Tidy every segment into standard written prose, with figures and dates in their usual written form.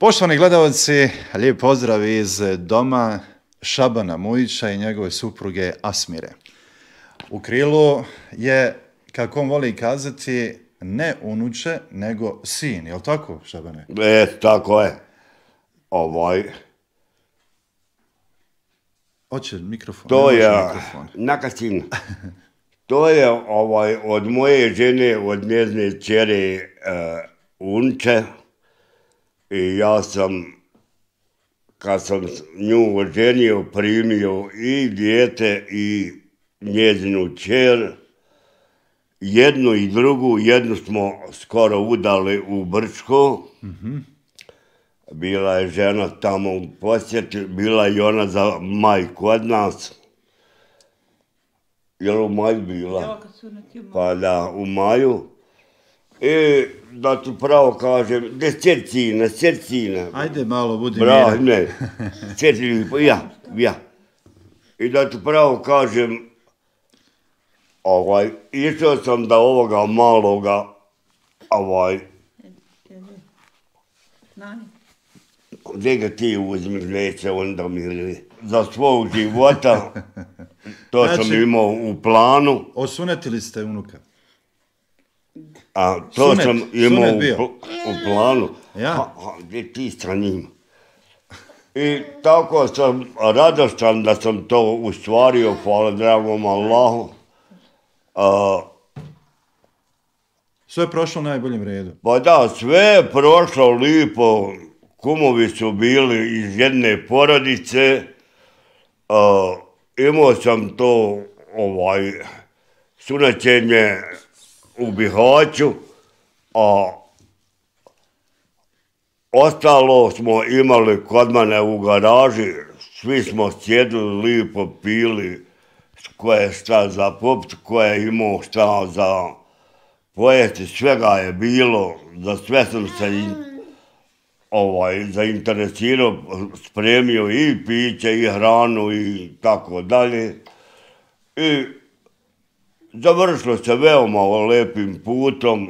Poštovani gledalci, lijep pozdrav iz doma Šabana Mujića i njegove supruge Asmire. U krilu je, kako on voli kazati, ne unuče, nego sin. Je li tako, Šabane? Tako je. Hoće mikrofon. To je, naka sin. To je od moje žene, od njezine kćeri unče. I ja sam, kad sam nju oženio, primio i dijete i njezinu kćer. Jednu i drugu, jednu smo skoro udali u Brčko. Bila je žena tamo u posjeti, bila je i ona za maj kod nas. Je li u maju bila? Pa da, u maju. I da tu pravo kažem, srcina. Ajde malo, budi mira. Ne, srcina, ja. I da tu pravo kažem, išao sam da ovoga maloga, gdje ga ti uzmiš, neće onda mi za svog života, to sam imao u planu. Osunetili ste unuka? A to sam imao u planu. Ja? Gdje ti sa njima? I tako sam radostan da sam to ustvario, hvala dragom Allahu. Sve je prošlo u najboljem redu. Pa da, sve je prošlo lipo. Kumovi su bili iz jedne porodice. Imao sam to sunaćenje u Bihaću, a ostalo smo imali kod mene u garaži. Svi smo sjedili lipo, pili, ko je šta za popit, ko je imao šta za pojesti, svega je bilo, za sve sam se zainteresirao, spremio i piće i hranu i tako dalje. I završilo se veoma lepim putom,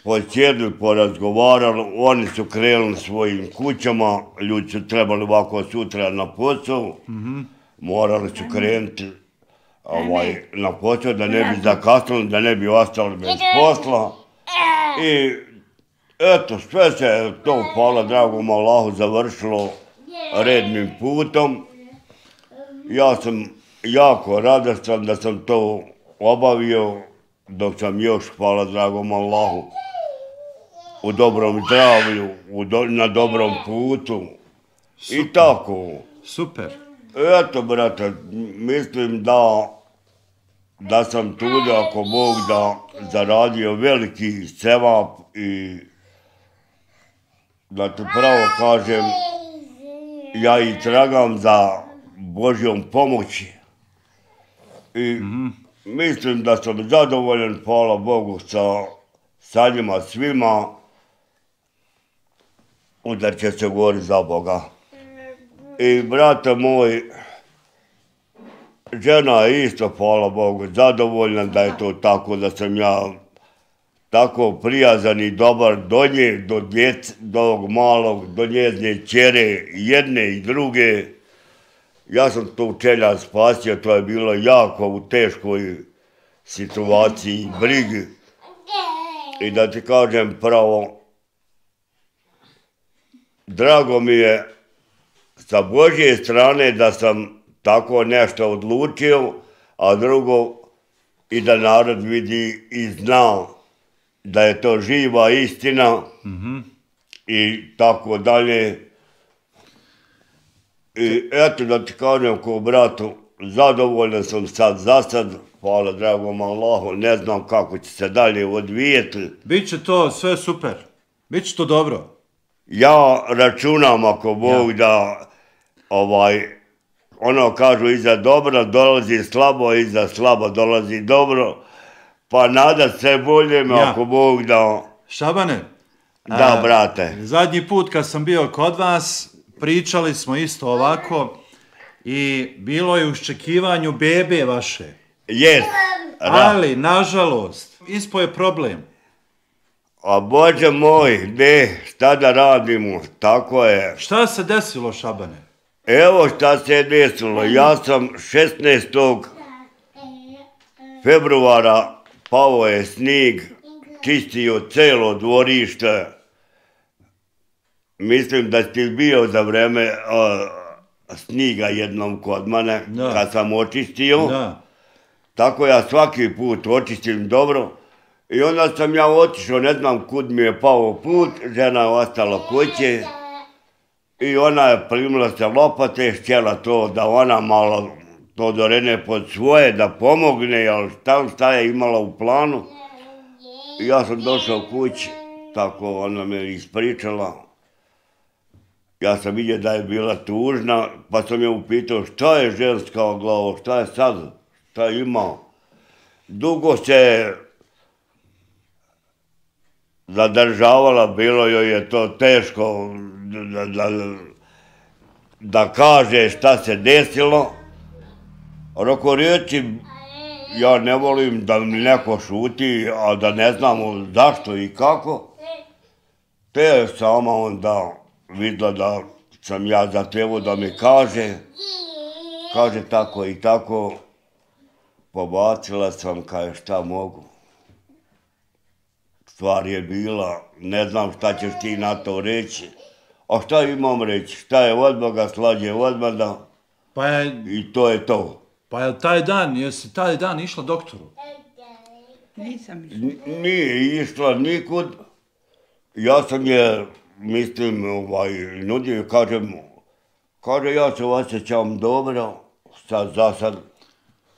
posjedili, porazgovarali, oni su krenuli svojim kućama, ljudi su trebali ovako sutra na posao, morali su krenuti na posao da ne bi zakasnili, da ne bi ostali bez posla. I eto, sve se to, hvala dragom Allahu, završilo rednim putom. Ja sam jako radostan da sam to obavio, dok sam još, hvala dragom Allahu, u dobrom zdravlju, na dobrom putu. I tako. Super. Eto, brate, mislim da sam tu, ako Bog da zaradio veliki sevap i da ti pravo kažem, ja i tragam za Božjom pomoći. I mislim da sam zadovoljan, hvala Bogu, sa njima svima, onda će se govoriti za Boga. I brate moj, žena je isto, hvala Bogu, zadovoljna da je to tako, da sam ja tako prijazan i dobar do nje, do djece, do ovog malog, do njezine kćere, jedne i druge. Ja sam tu čelja spasio, to je bilo jako u teškoj situaciji, brigi. I da ti kažem pravo, drago mi je sa Božje strane da sam tako nešto odlučio, a drugo i da narod vidi i zna da je to živa istina i tako dalje. I eto da ti kažem ko bratu, zadovoljan sam sad za sad, hvala dragom Allahu, ne znam kako će se dalje odvijeti. Biće to sve super, biće to dobro. Ja računam ako Bog da, ono kažu iza dobra dolazi slabo, iza slabo dolazi dobro, pa nadat se boljem ako Bog da. Šabane, da brate. Zadnji put kad sam bio kod vas, pričali smo isto ovako i bilo je u iščekivanju bebe vaše. Jes. Ali, nažalost, ispo je problem. A Bože moj, šta da radimo, tako je. Šta se desilo, Šabane? Evo šta se je desilo, ja sam 16. februara pao je snijeg, čistio celo dvorište. Mislim da si bio za vreme snijega jednom kod mene, kad sam očistio. Tako ja svaki put očistim dobro. I onda sam ja otišao, ne znam kud mi je pao put, žena je ostala kuće. I ona je primila se lopate, htjela to da ona malo to dorene pod svoje, da pomogne, ali šta je imala u planu. I ja sam došao kući, tako ona me ispričala. Ja sam vidio da je bila tužna, pa sam je upitao šta je ženska glava, šta je sad, šta je imao. Dugo se zadržavala, bilo joj je to teško da kaže šta se desilo. Roko riječi, ja ne volim da mi neko šuti, a da ne znamo zašto i kako. Te je sama onda vidjela da sam ja zahtjevao da mi kaže tako i tako. Pobacila sam kaj šta mogu. Stvar je bila, ne znam šta ćeš ti na to reći. A šta imam reći? Šta je od Boga, slađe od Boga. I to je to. Pa je jesi taj dan išla doktoru? Nisam išla. Nije išla nikud. Ja sam je, mislim, nudio, kaže ja se osjećam dobro, sad za sad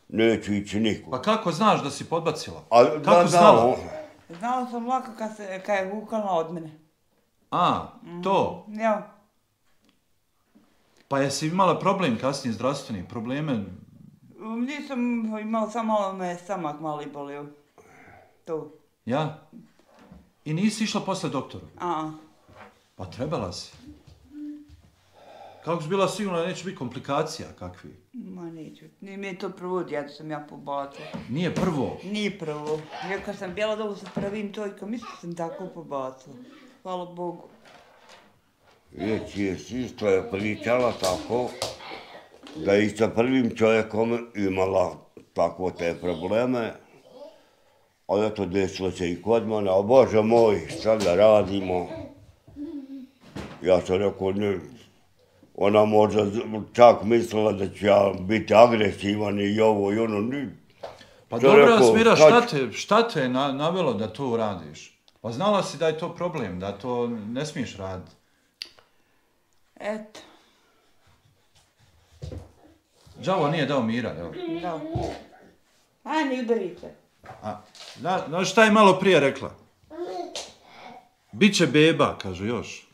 neću ići nikud. Pa kako znaš da si podbacila? Kako znala? Znala sam lako kad je vukala od mene. A, to? Ja. Pa jesi imala problem kasnije, zdravstveni probleme? Nisam imala, samo malo me stomak malo i bolio. To. Ja? I nisi išla posle doktoru? Pa trebala si. Kako si bila sigurna da neće biti komplikacija kakvi? Ma neću. Nije mi je to prvo djeto sam ja pobacila. Nije prvo? Nije prvo. Ja kad sam bila dolu sa prvim čovjekom, isto sam tako pobacila. Hvala Bogu. Isto je pričala tako, da je i sa prvim čovjekom imala tako te probleme. Ali eto, desilo se i kod mene, a Bože moj, šta da radimo? Ja sam rekao, ne, ona možda čak mislila da ću ja biti agresivan i ovo i ono. Pa dobro, Smira, šta te je navelo da to uradiš? Pa znala si da je to problem, da to ne smiješ raditi. Eto. Đavo nije dao mira, jel? Da. Ajde, udarite. Znaš šta je malo prije rekla? Biće beba, kaže još.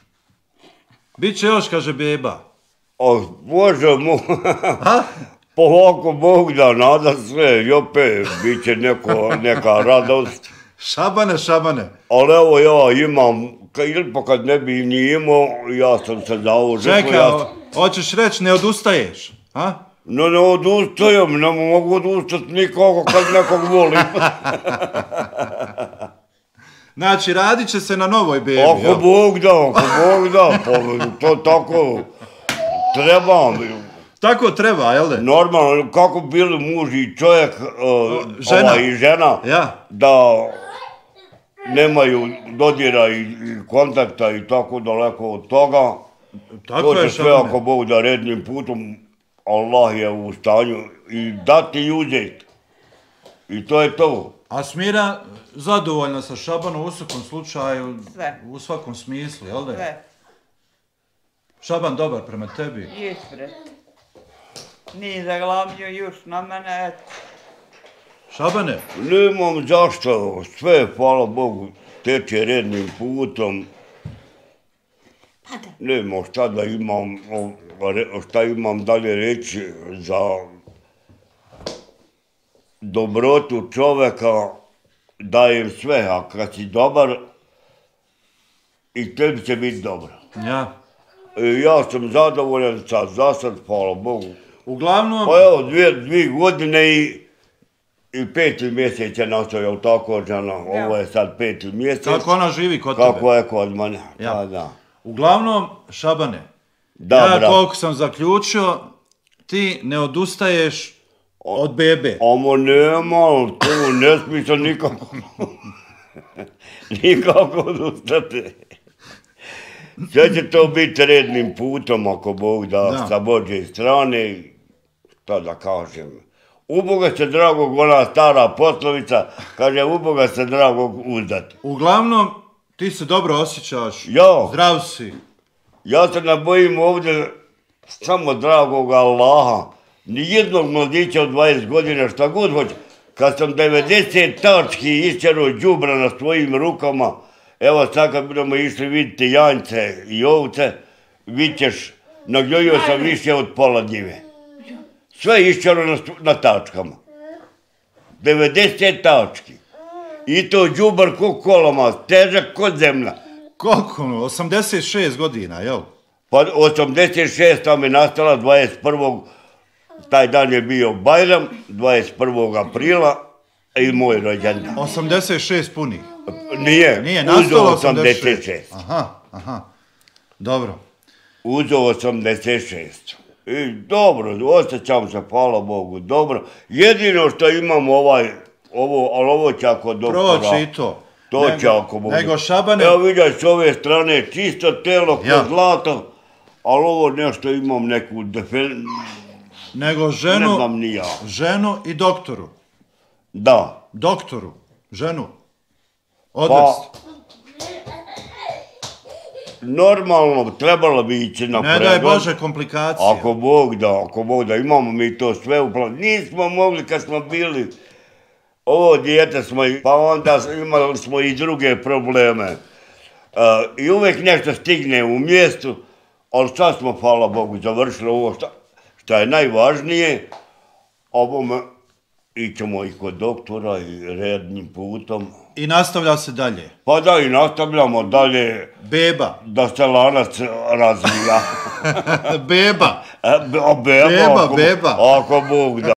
Biće još, kaže beba. Bože moj. Polako Bog da nada sve, i opet bit će neka radost. Šabane. Ali evo ja imam, pa kad ne bi ni imao, ja sam se zauzeo. Čekaj, hoćeš reći ne odustaješ, a? Ne odustajem, ne mogu odustati nikako kad nekog volim. Znači, radit će se na novoj bebi, jel? Ako Bog da, to tako treba. Tako treba, jel da? Normalno, kako bili muž i čovjek i žena, da nemaju dodira i kontakta i tako daleko od toga. To će sve ako Bog da rednim putom, Allah je u stanju i dati i uzeti. I to je to. A Smira zadovoljna sa Šabanom u svakom slučaju, u svakom smislu, jel da? Sve. Šaban dobar prema tebi? Jes, bre. Nije zaglavnio još na mene, eto. Šabane? Nemam zašto, sve, hvala Bogu, teče rednim putom. Nemam šta imam dalje reći za dobrotu čoveka, dajem sve, a kad si dobar, i tebi će biti dobro. Ja. Ja sam zadovoljan za sad, hvala Bogu. Uglavnom... Pa evo, 2 godine i I 5. mjesec je nastao, jel tako, žena? Ovo je sad 5. mjesec. Kako ona živi kod tebe? Kako je kod mene, Ja. pa da. Uglavnom, Šabane, Da, ja brat. koliko sam zaključio, ti ne odustaješ od bebe. Ovo nema, tu ne smije se nikako, nikako odustati. Sve će to biti rednim putom, ako Bog da, sa Božje strane, šta da kažem. U Boga se dragog, ona stara poslovica, kaže u Boga se dragog uzdati. Uglavnom, ti se dobro osjećaš, Ja. zdrav si. Ja se ne bojim ovdje samo dragog Allaha, nijednog mladića od 20 godina, šta god hoće. Kad sam 90 tački isčero đubra na svojim rukama, evo sad kad budemo išli vidjeti janjce i ovce, vidit ćeš, nagnjojio sam više od pola njive. Sve iščero na tačkama. 90 tački. I to đubar ko koloma, težak ko zemlja. Koliko? 86 godina, jel? Pa 86 tam je nastala 21. Taj dan je bio Bajram, 21. aprila i moj rođendan. 86 punih. Nije nastalo uzeo 86. Aha. Dobro. Uzeo 86. I dobro, osjećam se, hvala Bogu, dobro. Jedino što imam ali ovo će ako doktora. Proći i to. To će ako Bogu. Nego Šabane... Evo vidiš s ove strane, čisto telo kod zlato, ali ovo nešto imam neku Nego ženu, ne znam ni ja. Ženu i doktoru. Da. Doktoru, ženu. Odvesti. Normalno, trebalo bi ići na pregled. Ne daj Bože komplikacije. Ako Bog da, imamo mi to sve u planu. Nismo mogli kad smo bili ovo dijete smo, pa onda imali smo i druge probleme. I uvijek nešto stigne u mjestu, ali sad smo, hvala Bogu, završili ovo što je najvažnije. Ovome ićemo i kod doktora i rednim putom. I nastavlja se dalje. Pa da, i nastavljamo dalje. Beba. Da se lanac razvija. Beba. Beba, ako Bog da.